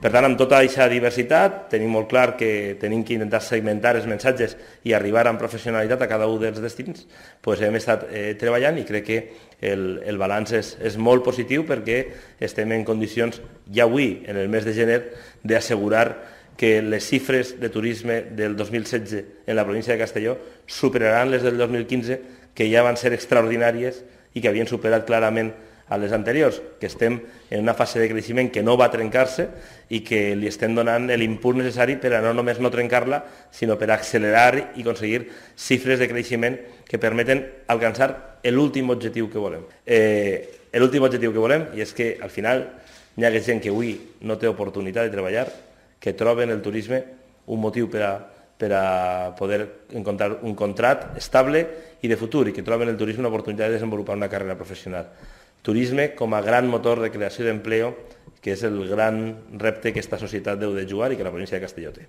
Per tant, amb tota aquesta diversitat, tenim molt clar que tenim que intentar segmentar els missatges i arribar amb professionalitat a cada un dels destins. Pues hem estat treballant i crec que el balanç és molt positiu perquè estem en condicions, ja avui, en el mes de gener, d'assegurar que les xifres de turisme del 2016 en la província de Castelló superaran les del 2015, que ja van ser extraordinàries i que havien superat clarament a les anteriors, que estem en una fase de creixement que no va trencar-se i que li estem donant l'impuls necessari per a no només no trencar-la, sinó per accelerar i aconseguir xifres de creixement que permeten alcançar l'últim objectiu que volem. L'últim objectiu que volem, i és que al final hi ha gent que avui no té oportunitat de treballar, que troben el turisme un motiu per a poder encontrar un contracte estable i de futur, i que troben el turisme una oportunitat de desenvolupar una carrera professional. Turisme com a gran motor de creació d'empleo, que és el gran repte que aquesta societat deu de jugar i que la província de Castelló té.